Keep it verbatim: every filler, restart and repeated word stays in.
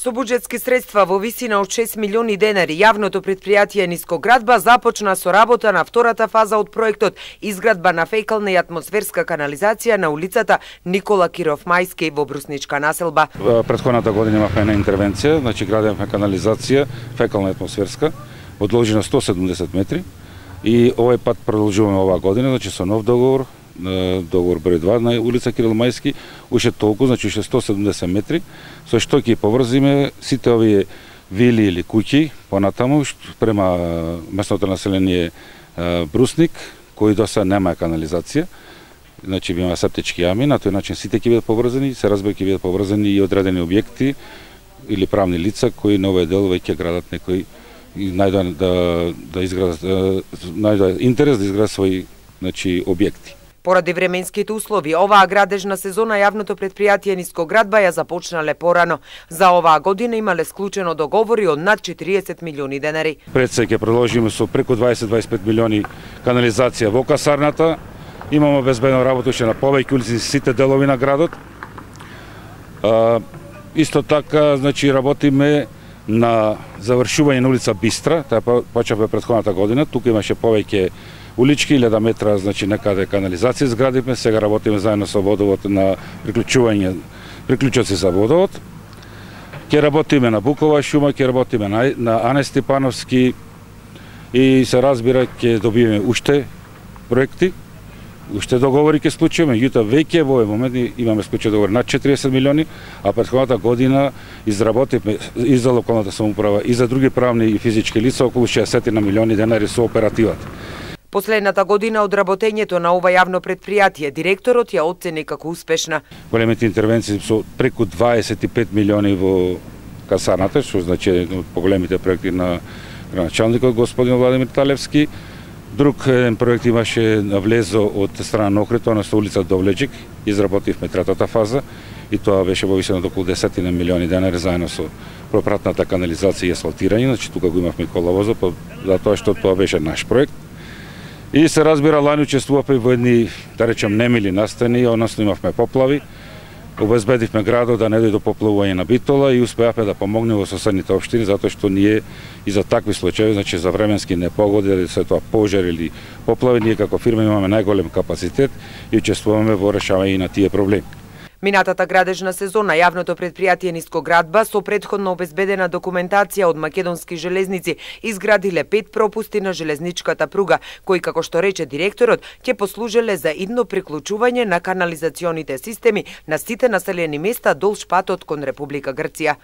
Со буџетски средства во висина од шест милиони денари, јавното претпријатие Нискоградба започна со работа на втората фаза од проектот изградба на фекална и атмосферска канализација на улицата Никола Киров Мајски во Брусничка населба. Претходната година имавме една интервенција, значи градевме канализација фекална и атмосферска во должина сто седумдесет метри и овој пат продолжуваме оваа година, значи со нов договор, договор број два на улица Кирил Мајски, уште толку, значи уште сто седумдесет метри, со што ќе поврзиме сите овие вили или куќи понатаму према местното население Брусник, кои до сега нема канализација, значи има септички јами, на тој начин сите ќе бидат поврзани, се разбира ќе бидат поврзани и одредени објекти или правни лица кои на овој дел веќе градат некои и најдоа да да изградат најдоа интерес да изградат своји значи објекти. Поради временските услови, оваа градежна сезона јавното претпријатие Нискоградба ја започнале порано. За оваа година имале склучено договори од над четириесет милиони денари. Пред се ќе продолжиме со преку дваесет до дваесет и пет милиони канализација во касарната. Имаме обезбедено работа уште на повеќе улици сите делови на градот. А, исто така, значи работиме на завршување на улица Бистра, таа почнавме претходната година, тука имаше повеќе улички, илјада метра, значи некаде канализација изградивме, сега работиме заедно со водовод на приклучување, приклучоци за водовод. Ќе работиме на Букова шума, ќе работиме на, на Ане Степановски и се разбира ќе добиеме уште проекти, уште договори ќе склучиме, јута веќе во овој момент имаме склучени договори над четириесет милиони, а претходната година изработивме и за локалната самоуправа и за други правни и физички лица околу шеесет милиони денари со оперативата. Последната година од работењето на ова јавно претпријатие, директорот ја оцени како успешна. Големите интервенции со преку дваесет и пет милиони во касарната, што значи еден од поголемите проекти на градоначалникот господин Владимир Талевски. Друг еден проект имаше навлезо од страна на Охрид, тоа на улица Довлеџик, изработивме третата фаза и тоа беше во висина од околу десет милиони денари заедно со пропратната канализација и асфалтирање, значи тука го имавме коловозот, затоа што тоа беше наш проект. И се разбира, лани учествувавме во едни, да речем, немили настани, односно имавме поплави. Обезбедивме градот да не дојде до поплавување на Битола и успеавме да помогнеме во соседните општини, затоа што ние и за такви случаи, значи за временски непогоди, дали се тоа пожар или поплави, ние како фирма имаме најголем капацитет и учествуваме во решавање на тие проблеми. Минатата градежна сезона јавното претпријатие Нискоградба со претходно обезбедена документација од Македонски железници изградиле пет пропусти на железничката пруга, кои, како што рече директорот, ќе послужеле за идно приклучување на канализационите системи на сите населени места долж патот кон Република Грција.